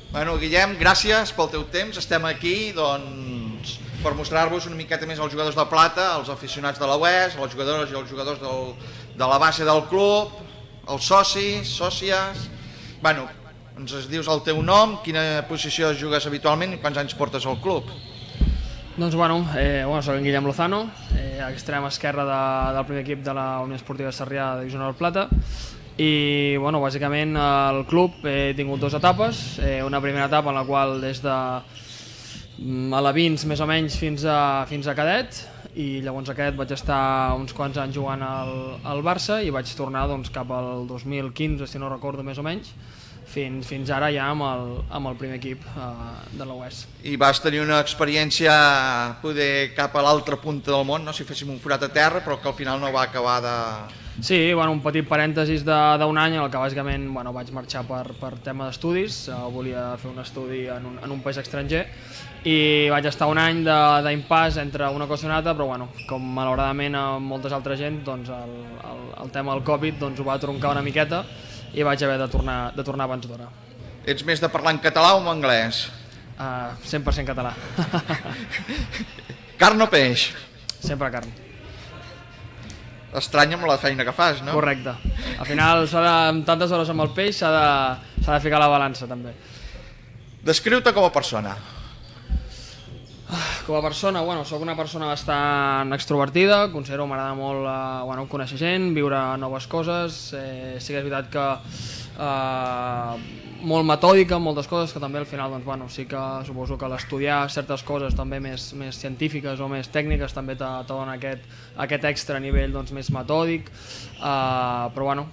Bueno, Guillem, gràcies pel teu temps. Estem aquí per mostrar-vos una miqueta més els jugadors de plata, els aficionats de la UES, les jugadores i els jugadors de la base del club, els socis, sòcies. Bueno, ens dius el teu nom, quina posició jugues habitualment i quants anys portes al club? Doncs soc en Guillem Lozano, extrem esquerre del primer equip de la Unió Esportiva Sarrià de Divisió Honor Plata. I bàsicament al club he tingut dues etapes, una primera etapa en la qual des de alevins més o menys fins a cadet, i llavors a cadet vaig estar uns quants anys jugant al Barça i vaig tornar cap al 2015, si no recordo més o menys, fins ara ja amb el primer equip de la UES. I vas tenir una experiència poder cap a l'altra punta del món, no? Si féssim un forat a terra, però que al final no va acabar de... Sí, un petit parèntesis d'un any en el que bàsicament vaig marxar per tema d'estudis, volia fer un estudi en un país estranger i vaig estar un any d'impàs entre una cosa i una altra, però com malauradament a molta altra gent, el tema del Covid ho va troncar una miqueta i vaig haver de tornar abans d'hora. Ets més de parlar en català o en anglès? 100% català. Carn o peix? Sempre carn. Estrany amb la feina que fas, no? Correcte. Al final, amb tantes hores amb el peix, s'ha de ficar la balança, també. Descriu-te com a persona. Com a persona, soc una persona bastant extrovertida, considero que m'agrada molt conèixer gent, viure noves coses, sí que és veritat que molt metòdica en moltes coses, que també al final sí que suposo que l'estudiar certes coses també més científiques o més tècniques també te dona aquest extra nivell més metòdic, però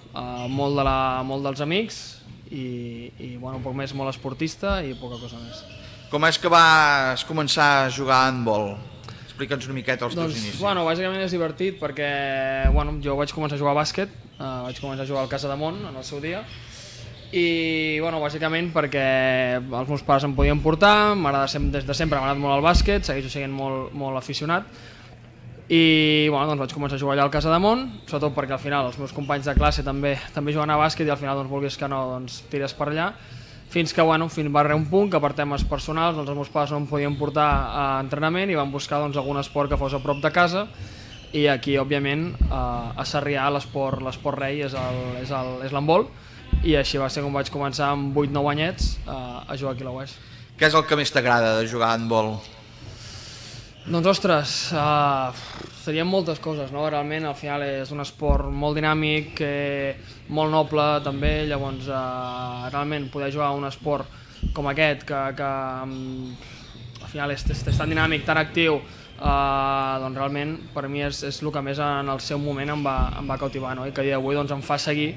molt dels amics i un poc més molt esportista i poca cosa més. Com és que vas començar a jugar a handbol? Explica'ns una miqueta els teus inicis. Bàsicament és divertit perquè jo vaig començar a jugar a bàsquet, vaig començar a jugar al Casademont en el seu dia i bàsicament perquè els meus pares em podien portar, des de sempre m'ha agradat molt el bàsquet, segueixo sent molt aficionat i vaig començar a jugar allà al Casademont, sobretot perquè al final els meus companys de classe també juguen a bàsquet i al final vulguis que no tires per allà, fins que va arribar un punt que per temes personals els meus pares no em podien portar a entrenament i van buscar algun esport que fos a prop de casa i aquí òbviament a Sarrià l'esport rei és l'handbol i així va ser com vaig començar amb 8-9 anyets a jugar aquí a la UES. Què és el que més t'agrada de jugar a handbol? Doncs ostres, serien moltes coses, no? Realment al final és un esport molt dinàmic, molt noble també, llavors realment poder jugar a un esport com aquest que al final és tan dinàmic, tan actiu, doncs realment per mi és el que més en el seu moment em va cautivar, no? I que a dia d'avui em fa seguir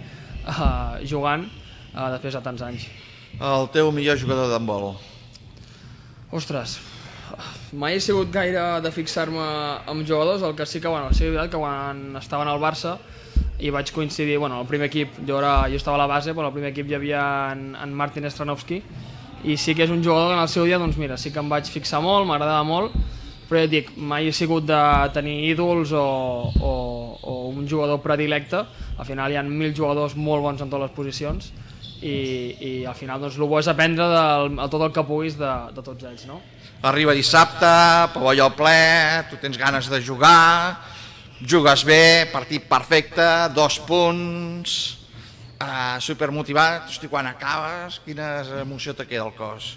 jugant després de tants anys. El teu millor jugador d'handbol? Ostres, mai he sigut gaire de fixar-me amb jugadors, el que sí que és veritat que quan estaven al Barça i vaig coincidir, el primer equip, jo estava a la base, però al primer equip hi havia en Martin Stranovski i sí que és un jugador que en el seu dia, sí que em vaig fixar molt, m'agradava molt, però ja et dic, mai he sigut de tenir ídols o un jugador predilecte, al final hi ha 1000 jugadors molt bons en totes les posicions i al final el bo és aprendre tot el que puguis de tots ells, no? Arriba dissabte, pavelló ple, tu tens ganes de jugar, jugues bé, partit perfecte, 2 punts, supermotivat, hosti, quan acabes, quina emoció te queda al cos?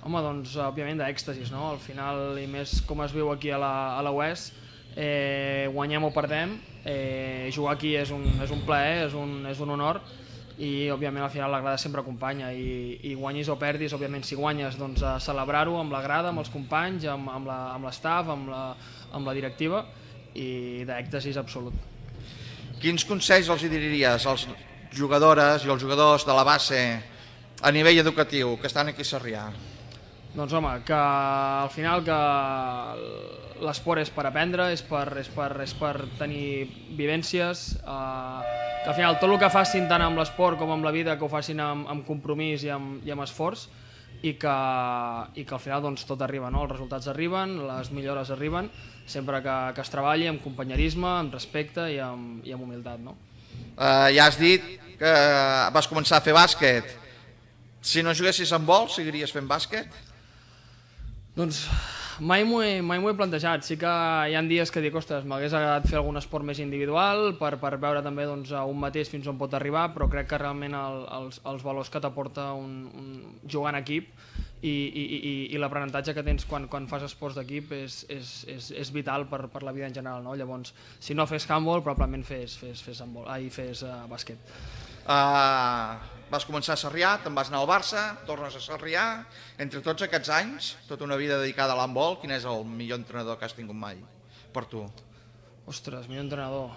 Home, doncs, òbviament d'èxtasis, no? Al final, i més com es viu aquí a la UES, guanyem o perdem, jugar aquí és un plaer, és un honor, i òbviament al final la grada sempre acompanya, i guanyis o perdis, òbviament si guanyes, doncs a celebrar-ho amb la grada, amb els companys, amb l'estaf, amb la directiva, i d'èxtasis absolut. Quins consells els diries als jugadores i als jugadors de la base a nivell educatiu que estan aquí a Sarrià? Doncs home, que al final que l'esport és per aprendre, és per tenir vivències, que al final tot el que facin tant amb l'esport com amb la vida que ho facin amb compromís i amb esforç i que al final doncs, tot arriba, no? Els resultats arriben, les millores arriben, sempre que es treballi amb companyerisme, amb respecte i amb humilitat, no? Ja has dit que vas començar a fer bàsquet. Si no juguessis amb vol, seguiries fent bàsquet? Doncs mai m'ho he plantejat. Sí que hi ha dies que dic, ostres, m'hagués agradat fer algun esport més individual per veure també doncs, a un mateix fins on pot arribar, però crec que realment els valors que t'aporta jugar en equip i l'aprenentatge que tens quan fas esports d'equip és vital per la vida en general, no? Llavors, si no fes handball, probablement fes bàsquet. Vas començar a Sarrià, te'n vas anar al Barça, tornes a Sarrià. Entre tots aquests anys, tota una vida dedicada a l'handbol, quin és el millor entrenador que has tingut mai per tu? Ostres, millor entrenador...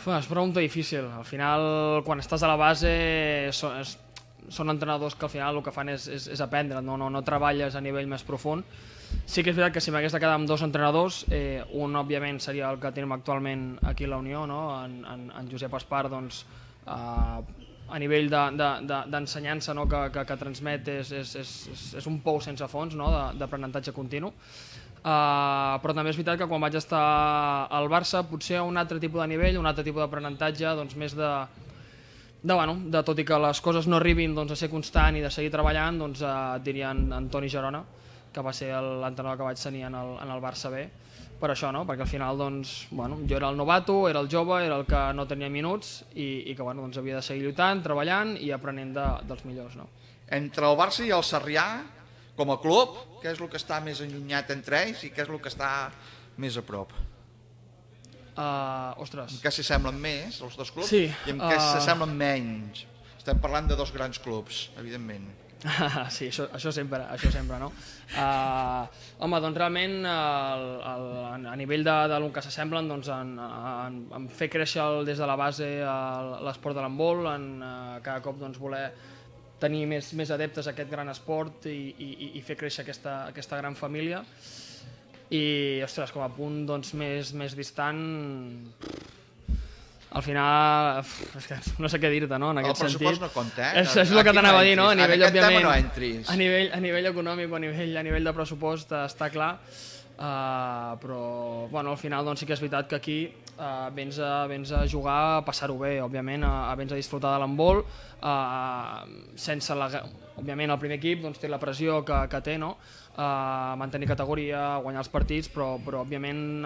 És pregunta difícil. Al final, quan estàs a la base, són entrenadors que al final el que fan és aprendre, no treballes a nivell més profund. Sí que és veritat que si m'hagués de quedar amb dos entrenadors, un òbviament seria el que tenim actualment aquí a la Unió, no? En Josep Espar, doncs, a nivell d'ensenyança que transmet és un pou sense fons, no? D'aprenentatge continu. Però també és veritat que quan vaig estar al Barça potser un altre tipus de nivell, un altre tipus d'aprenentatge, doncs més de tot i que les coses no arribin a ser constant i de seguir treballant, doncs et diria en Toni Gerona, que va ser l'entrenador que vaig tenir en el Barça B, per això, no? Perquè al final jo era el novato, era el jove, era el que no tenia minuts i que havia de seguir lluitant, treballant i aprenent dels millors. Entre el Barça i el Sarrià, com a club, què és el que està més allunyat entre ells i què és el que està més a prop? Ostres. En què s'assemblen més, els dos clubs, sí, i en què s'assemblen menys? Estem parlant de dos grans clubs, evidentment. Sí, això sempre, no? Home, doncs realment a nivell del que s'assemblen en fer créixer des de la base l'esport de l'handbol, en cada cop voler tenir més adeptes a aquest gran esport i fer créixer aquesta gran família. I, ostres, com a punt més distant, al final, no sé què dir-te, no? En aquest sentit. El pressupost no compta, És el que t'anava a dir, no? A nivell, òbviament, no entris. A nivell econòmic o a nivell de pressupost està clar, però al final sí que és veritat que aquí vens a jugar, a passar-ho bé, òbviament, vens a disfrutar de l'handbol, sense òbviament el primer equip té la pressió que té, no? Mantenir categoria, guanyar els partits, però òbviament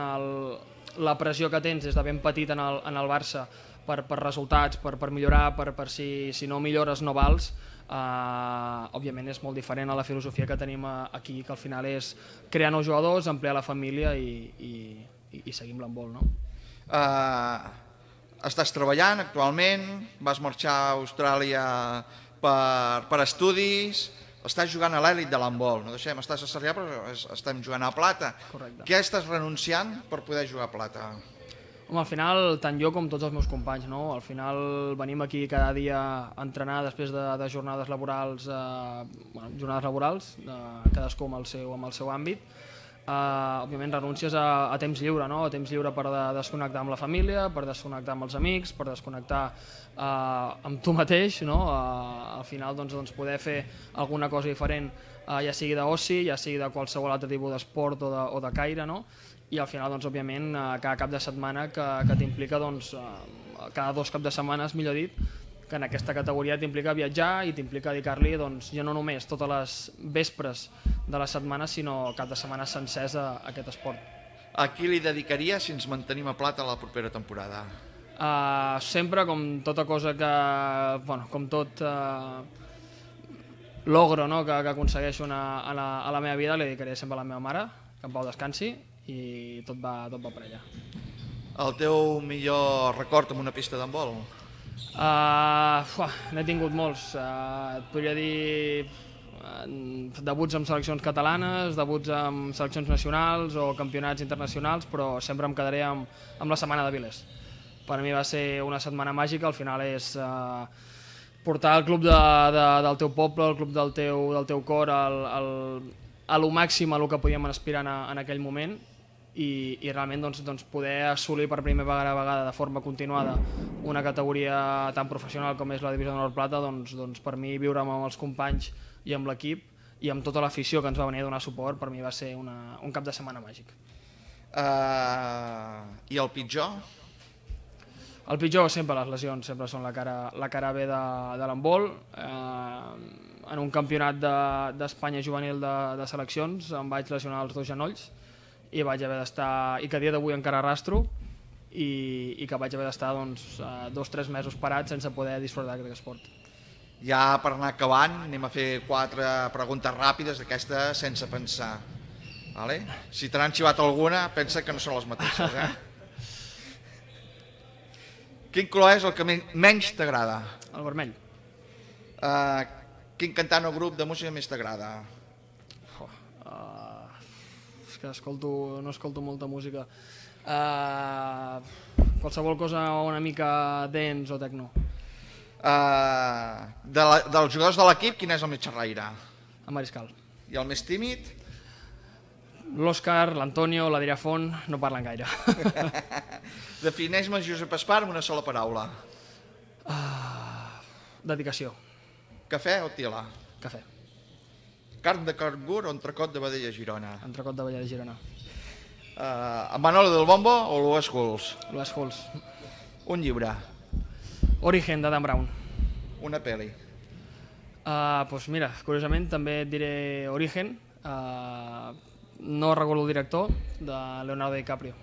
la pressió que tens des de ben petit en el Barça per resultats, per millorar, per si no millores no vals, òbviament és molt diferent a la filosofia que tenim aquí, que al final és crear nous jugadors, ampliar la família i seguir amb l'handbol, no? Estàs treballant actualment, vas marxar a Austràlia per estudis, estàs jugant a l'èlit de l'handbol, no deixem, estàs a Sarrià però estem jugant a plata. Correcte. Què estàs renunciant per poder jugar a plata? Home, al final, tant jo com tots els meus companys, no? Al final venim aquí cada dia a entrenar després de jornades laborals, cadascú amb el seu àmbit. Òbviament renuncies a temps lliure, no? A temps lliure per desconnectar amb la família, per desconnectar amb els amics, per desconnectar amb tu mateix, no? Al final poder fer alguna cosa diferent, ja sigui d'oci, ja sigui de qualsevol altre tipus d'esport o de caire, no? I al final, òbviament, cada cap de setmana que t'implica, cada 2 caps de setmana, millor dit, que en aquesta categoria t'implica viatjar i t'implica dedicar-li, ja no només totes les vespres de la setmana, sinó cap de setmana sencers a aquest esport. A qui li dedicaria si ens mantenim a plata la propera temporada? Sempre, com tota cosa com tot logro, no? que aconsegueixo a la meva vida, li dedicaré sempre a la meva mare, que en pau descansi, i tot va per allà. El teu millor record amb una pista d'handbol? N'he tingut molts. Et podria dir debuts amb seleccions catalanes, debuts amb seleccions nacionals o campionats internacionals, però sempre em quedaré amb la setmana de Vilés. Per a mi va ser una setmana màgica, al final és portar el club del teu poble, el club del teu cor a lo màxim a lo que podíem aspirar en aquell moment i realment poder assolir per primera vegada de forma continuada una categoria tan professional com és la Divisió d'Honor Plata, per mi viure amb els companys i amb l'equip i amb tota l'afició que ens va venir a donar suport, per mi va ser un cap de setmana màgic. I el pitjor? El pitjor sempre les lesions, sempre són la cara B de l'handbol. En un campionat d'Espanya juvenil de seleccions em vaig lesionar els 2 genolls i vaig haver d'estar, i que a dia d'avui encara arrastro, i que vaig haver d'estar 2 o 3 mesos parat sense poder disfrutar d'aquest esport. Ja per anar acabant, anem a fer 4 preguntes ràpides d'aquestes sense pensar. Si te n'han xivat alguna, pensa que no són les mateixes. Quin color és el que menys t'agrada? El vermell. Quin cantant o grup de música més t'agrada? És que no escolto molta música. Qualsevol cosa una mica dance o techno. Dels jugadors de l'equip, quin és el més xerraire? El Mariscal. I el més tímid? L'Òscar, l'Antonio, l'Adrià Font no parlen gaire. Defineix-me Josep Espart amb una sola paraula. Dedicació. Cafè o tila? Cafè. Carn de Cargur o entrecot de vedella Girona? Entrecot de vedella Girona. Manolo del Bombo o l'Ues Hulls? L'Ues Hulls. Un llibre? Origen, de Dan Brown. Una pel·li? Doncs mira, curiosament també et diré Origen. No recordo el director, de Leonardo DiCaprio.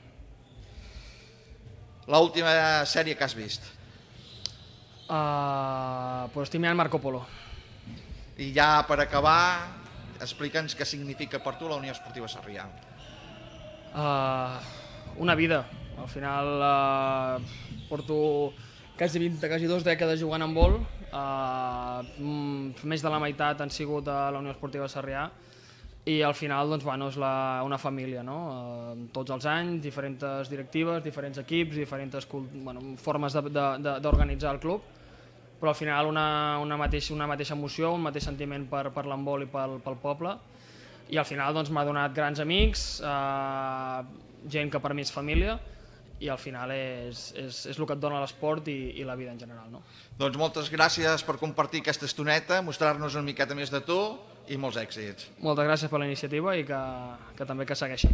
L'última sèrie que has vist? Pues estic mirant Marco Polo. I ja per acabar, explica'ns què significa per tu la Unió Esportiva Sarrià. Una vida. Al final porto quasi 2 dècades jugant a handbol. Més de la meitat han sigut a la Unió Esportiva Sarrià. I al final és una família, tots els anys, diferents directives, diferents equips, diferents formes d'organitzar el club, però al final una mateixa emoció, un mateix sentiment per l'handbol i pel poble, i al final m'ha donat grans amics, gent que per mi és família, i al final és el que et dona l'esport i la vida en general. Doncs moltes gràcies per compartir aquesta estoneta, mostrar-nos una miqueta més de tu i molts èxits. Moltes gràcies per la iniciativa i que també que segueixi.